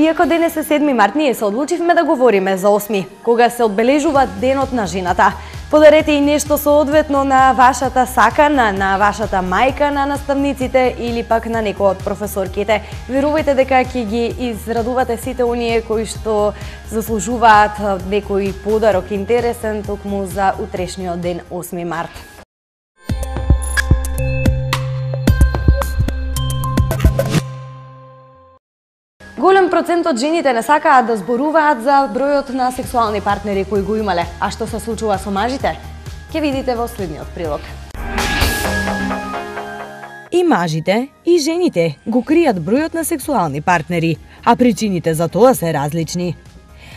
Иако денес е 7 март, ние се одлучивме да говориме за 8, кога се одбележува Денот на жената. Подарете и нешто соодветно на вашата сакана, на вашата мајка, на наставниците или пак на некој од професорките. Верувајте дека ќе ги израдувате сите оние кои што заслужуваат некој подарок интересен токму за утрешниот ден 8 март. Голем процент од жените не сакаат да зборуваат за бројот на сексуални партнери кои го имале. А што се случува со мажите? Ќе видите во следниот прилог. И мажите, и жените го кријат бројот на сексуални партнери, а причините за тоа се различни.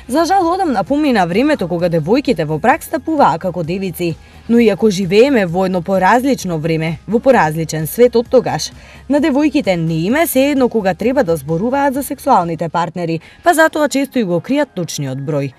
За жал, одамна помина времето кога девојките во брак стапуваа како девици, но иако живееме во едно поразлично време, во поразличен свет од тогаш, на девојките не им е сеедно кога треба да зборуваат за сексуалните партнери, па затоа често и го кријат точниот број.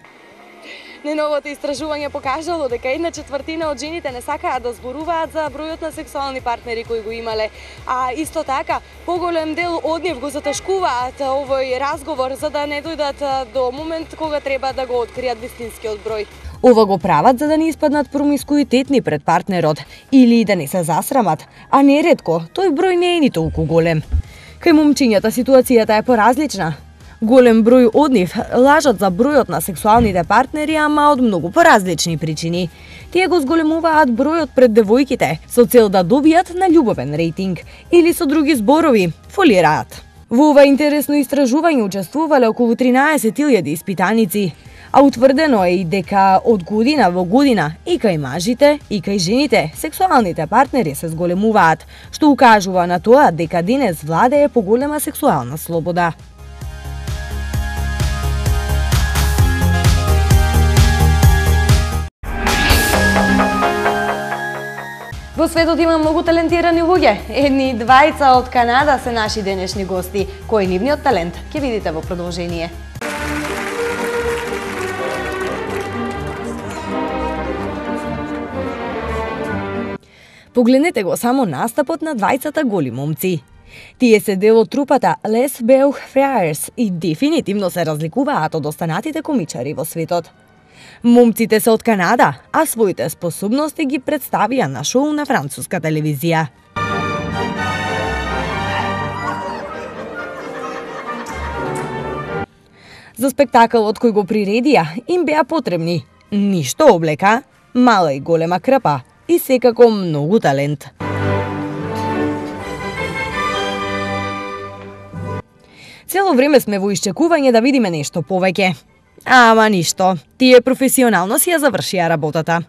Неновото истражување покажало дека 1/4 од жените не сакаат да зборуваат за бројот на сексуални партнери кои го имале, а исто така поголем дел од нив го затешкуваат овој разговор за да не дојдат до момент кога треба да го откријат вистинскиот број. Ова го прават за да не испаднат промискуитетни пред партнерот или да не се засрамат, а неретко тој број не е ни толку голем. Кај момчињата ситуацијата е поразлична. Голем број од нив лажат за бројот на сексуалните партнери, ама од многу поразлични причини. Тие го зголемуваат бројот пред девојките со цел да добијат на љубовен рейтинг или со други зборови фолираат. Во ова интересно истражување учествувале околу 13.000 испитаници, а утврдено е и дека од година во година и кај мажите, и кај жените сексуалните партнери се зголемуваат, што укажува на тоа дека денес владее поголема сексуална слобода. Во светот има многу талентирани луѓе. Едни двајца од Канада се наши денешни гости. Кој е нивниот талент? Ќе видите во продолжение. Погледнете го само настапот на двајцата голи момци. Тие се дел од трупата Les Beaux Frères и дефинитивно се разликуваат од останатите комичари во светот. Момците се од Канада, а своите способности ги представија на шоу на француска телевизија. За спектакалот кој го приредија им беа потребни ништо облека, мала и голема крпа и секако многу талент. Цело време сме во исчекување да видиме нешто повеќе. Ама ништо, тие професионално си ја завршија работата.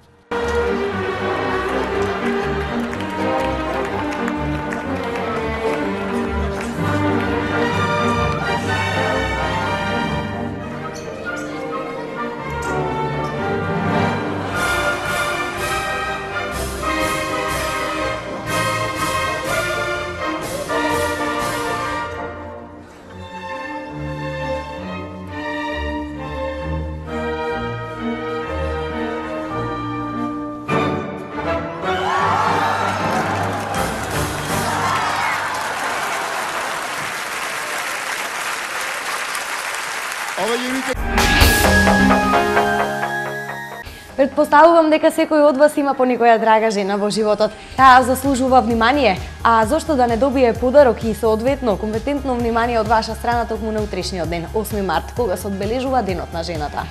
Предпоставувам дека секој од вас има по некоја драга жена во животот. Таа заслужува внимание, а зошто да не добие подарок и соодветно компетентно внимание од ваша страна токму на утрешниот ден, 8 март, кога се одбележува Денот на жената.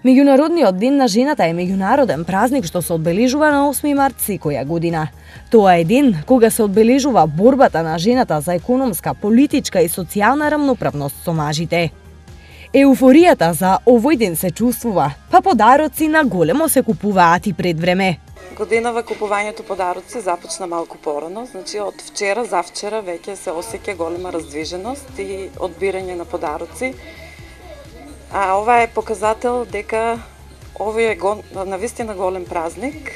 Меѓународниот ден на жената е меѓународен празник што се одбележува на 8 март секоја година. Тоа е ден кога се одбележува борбата на жената за економска, политичка и социјална рамноправност со мажите. Еуфоријата за овој ден се чувствува, па подароци на големо се купуваат и пред време. Годинава купувањето подароци започна малку порано, значи од вчера, завчера веќе се осеќа голема раздвиженост и одбирање на подароци. А ова е показател дека овој е навистина голем празник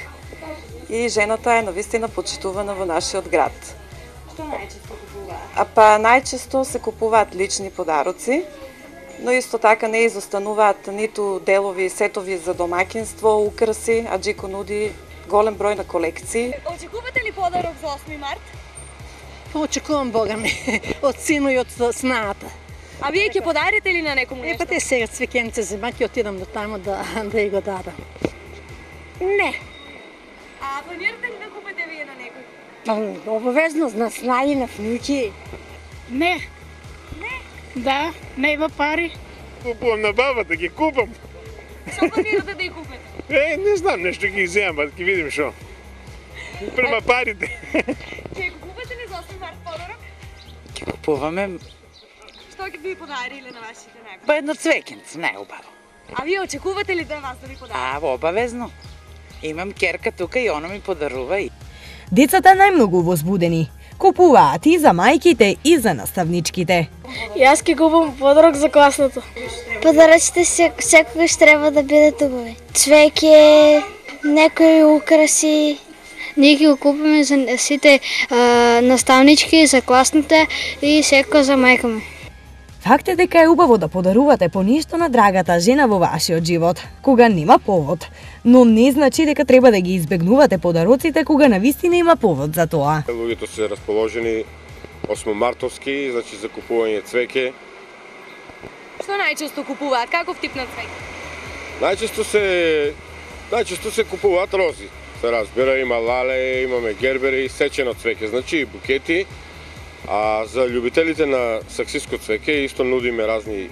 и жената е навистина почитувана во нашиот град. Што најчесто купуваат? Најчесто се купуваат лични подароци, но исто така не изостануваат ниту делови, сетови за домаќинство, украси, а Джико нуди голем број на колекции. Очекувате ли подарок за 8 март? Очекувам Бога ми, од сино и од снаата. А вие ќе подарите ли на некому нешто? Те сега цвекенце зема, ќе отидам до таму да ја го дадам. Не. А планирате ли да купите вие на некој? Обавезно на снаи, на внуки. Не. Да, нема пари. Купувам на бабата, ги купам. Што планирате да ја купите? Не знам, нешто ги земам, па ќе видим што. Према парите. Ќе го купите ли за 8 март подарок? Ќе купуваме Што ќе ви подариле на вашите некои? па едно цвекенце, најубаво. А вие очекувате ли да вас да ви подарат? Обавезно. Имам керка тука и она ми подарува и. Децата најмногу возбудени. Купуваат и за мајките и за наставничките. Јас ќе купам подарок за класното. Подаръците секогаш трябва да бидат убави. Цвеќе, некои украси. Ние ќе го купиме за сите наставнички, за класните и секој за мајка ми. Факт е дека е убаво да подарувате по нешто на драгата жена во вашиот живот, кога нема повод. Но не значи дека треба да ги избегнувате подароците кога навистина има повод за тоа. Луѓето се расположени 8 мартовски, значи за купување цвеќе. Што најчесто купуваат? Каков тип на цвеќе? Најчесто се купуваат рози. Се разбира, има лале, имаме гербери, сечено цвеќе, значи и букети. А за љубителите на саксиско цвеќе исто нудиме разни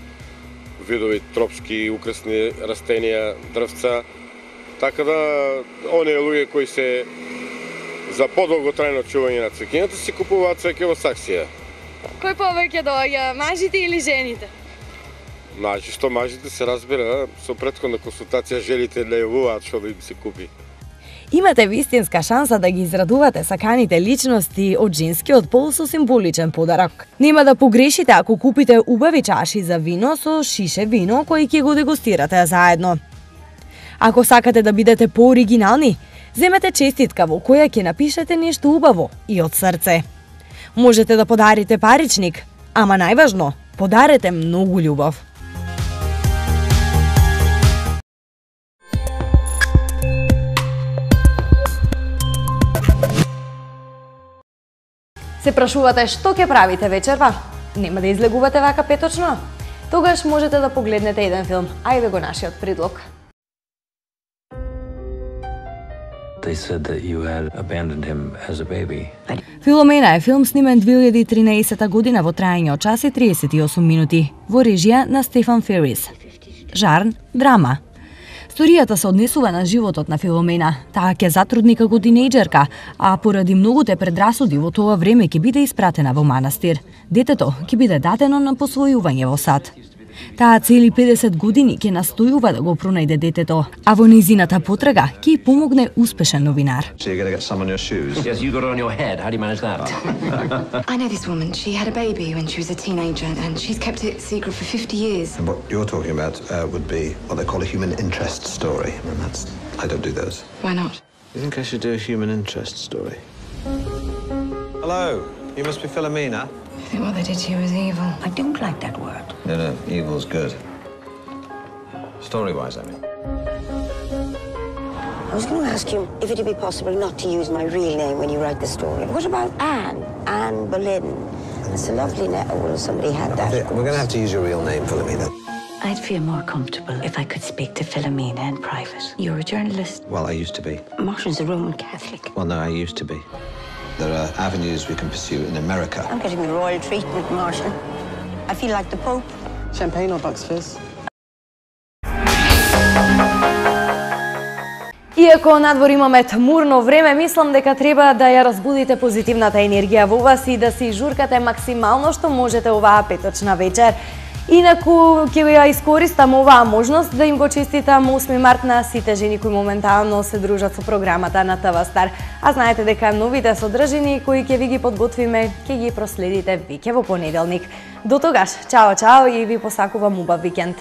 видови тропски, украсни растенија, дрвца. Така да, оние луѓе кои се за подолготрајно чување на цвеќињата си купуваат цвеќе во саксија. Кој повеќе доаѓа, мажите или жените? Најчесто мажите се разбира, со претходна консултација желите да јавуваат што да им се купи. Имате вистинска шанса да ги израдувате саканите личности од женскиот пол со символичен подарок. Нема да погрешите ако купите убави чаши за вино со шише вино кои ќе го дегустирате заедно. Ако сакате да бидете пооригинални, земете честитка во која ќе напишете нешто убаво и од срце. Можете да подарите паричник, ама најважно, подарете многу љубов. Се прашувате што ќе правите вечерва? Нема да излегувате вака петочно? Тогаш можете да погледнете еден филм. Ајде го нашиот предлог. They said that you had abandoned him as a baby. Филомена е филм снимен 2013 година во траење од час и 38 минути, во режија на Стефан Ферис. Жарн, драма. Сторијата се однесува на животот на Филомена. Таа ќе затрудни како тинејџерка, а поради многуте предрасуди во тоа време ќе биде испратена во манастир. Детето ќе биде дадено на посвојување во сад. Таа цели 50 години ќе настојува да го пронајде детето, а во низината потрага ќе ѝ помогне успешен новинар. So you're going to get some on your shoes? Yes, you got it on your head. How do you manage that? I know this woman. She had a baby when she was a teenager and she's kept it secret for 50 years. And what you're talking about would be what they call a human interest story. And I don't do those. Why not? You think I should do a human interest story? Hello, you must be Philomena. I think what they did to you was evil. I don't like that word. No, evil's good. Story-wise, I mean. I was going to ask you if it'd be possible not to use my real name when you write the story. What about Anne? Anne Boleyn. It's a lovely name. Well, somebody had that. We're going to have to use your real name, Philomena. I'd feel more comfortable if I could speak to Philomena in private. You're a journalist. Well, I used to be. Martin's a Roman Catholic. Well, no, I used to be. There are avenues we can pursue in America. I'm getting the royal treatment, Martin. I feel like the Pope. Champagne or Bucks Fizz? Иако надвор имаме тмурно време, мислам дека треба да ја разбудите позитивната енергија во вас и да си журкате максимално што можете оваа петочна вечер. Инаку ќе ја искористам оваа можност да им го честитам 8 март на сите жени кои моментално се дружат со програмата на ТВ Стар. А знаете дека новите содржини кои ќе ви ги подготвиме, ќе ги проследите веќе во понеделник. До тогаш, чао и ви посакувам убав викенд.